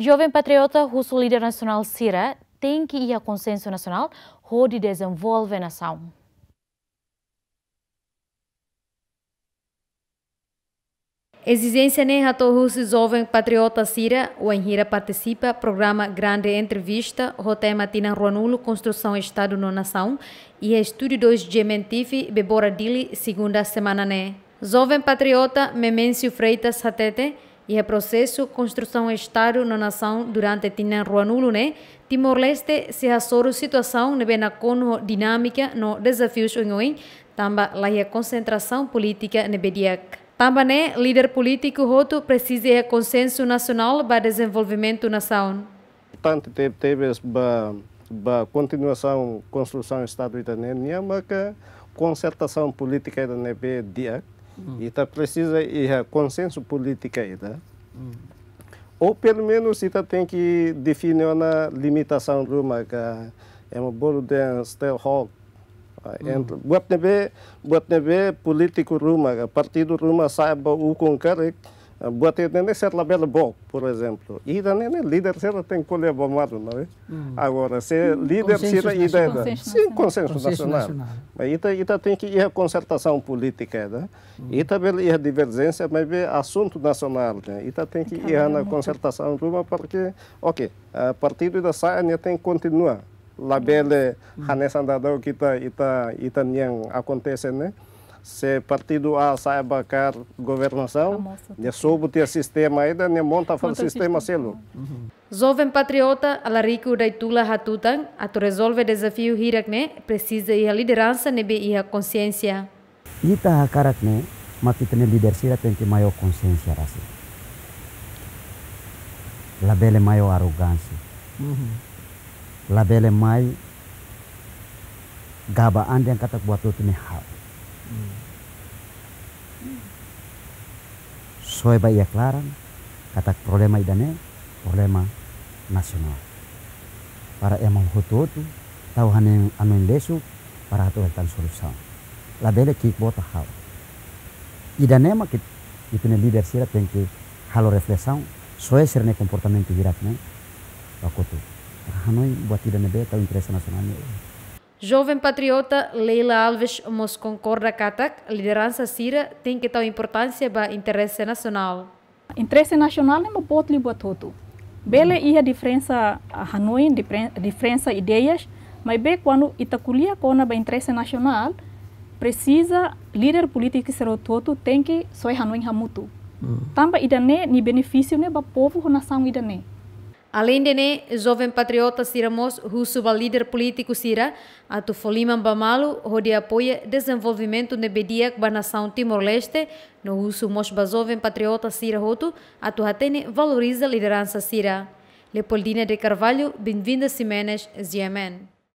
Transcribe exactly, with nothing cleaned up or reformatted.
Joven patriota husu líder nasionál sira tenke iha konsensu nasionál hodi dezenvolve nasaun. Ezijénsia ne'e hato'o husi joven patriota sira wainhira partisipa programa Grande Entrevista ho tema Tinan Ruanulu Konstrusaun Estadu no Nasaun iha Estúdiu dois G M N T V, Bebora, Dili, segunda semana ne'e. Joven patriota Memencio Freitas hatete, iha prosesu konstrusaun Estadu no nasaun durante tinan ruanulu ne'e, Timor-Leste sei hasoru situasaun ne'ebé nakonu ho dinámika no dezafius oioin, tanba laiha konsentrasaun polítika ne'ebé di'ak. Tanba ne'e, líder polítiku hotu presiza iha konsensu nasionál ba dezenvolvimentu nasaun. Importante te-, tebes ba, ba kontinuasaun konstrusaun Estadu ida-ne'e nian maka konsertasaun polítika ida ne'ebé di'ak. Hmm. Ita presiza iha konsensu polítika ida. Hmm. Ou pelumenus ita tenke define ona limitasaun ruma ka ema bolu dehan stakeholder. Ah, hmm. Ent-, buat ne'ebé, buat ne'ebé polítiku ruma ka partidu ruma sa'e ba ukun karik, ah, buat ne'e ne'e sira labele book, por ezemplu. Ida-ne'e ne'e líder sira tenke ko'alia ba malu, não é? Hmm. Agora, se, hmm, líder sira ida, ida. Konsensu nasionál. Sin, konsensu nasionál. Mas ita, ita tenke iha konsertasaun polítika ida. Hmm. Ita bele iha diverjénsia, maibé asuntu nasionál, ne'e. Ita tenke iha ona konsertasaun ruma, porque, ok, ah, partidu ida sa'e ne'e tenke kontinua. Labele, hmm, hanesan daudaun ita, ita, ita-nian akontese ne'e. Se partidu A sa'e ba kaer governasaun, nia sobu tiha sistema ida, nia monta fali sistema seluk. Monta sistema. Mhm. Joven patriota Alarico Daitula hatutan, atu rezolve dezafiu hirak ne'e, presiza iha lideransa ne'ebé iha konsiénsia. Ita hakarak ne'e, mak ita-nia líder sira tenke mai ho konsiénsia rasik. Labele mai ho arogánsia. Mhm. Labele mai gaba an dehan katak buat hotu ne'e ha'u. Hmm. Soe ba iha klaran, katak problema ida-ne'e, problema nasionál. Para ema hotu-hotu, tau hanoin, hanoin lesu, para atu hetan solusaun. Labele ki'ik boot ha'u. Ida-ne'e mak ita-nia líder sira tenke halo reflesaun, soe sira-nia komportamentu hirak ne'e, ba kotuk. Hanoin buat ida ne'ebé tau interese nasionál ne'e. Joven patriota Leila Alves mós konkorda katak lideransa sira tenke tau importánsia ba interese nasionál. Interese nasionál ne'e mak boot liu buat hotu. Bele iha diferensa, ah, hanoin, diferen-, diferensa ideias, maibé kuandu ita ko'alia kona-ba interese nasionál, presiza líder polítiku sira hotu-hotu tenke soe hanoin hamutuk. Hmm. Tanba ida-ne'e nia benefísiu ne'e ba povu ho nasaun ida-ne'e. Aleinde ne'e, joven patriota sira mós husu ba líder polítiku sira atu fó liman ba malu hodi apoia dezenvolvimentu ne'ebé di'ak ba nasaun Timor-Leste, no husu mós ba joven patriota sira hotu atu hatene valoriza lideransa sira. Leopoldina de Carvalho, Benvinda Ximenes, G M N.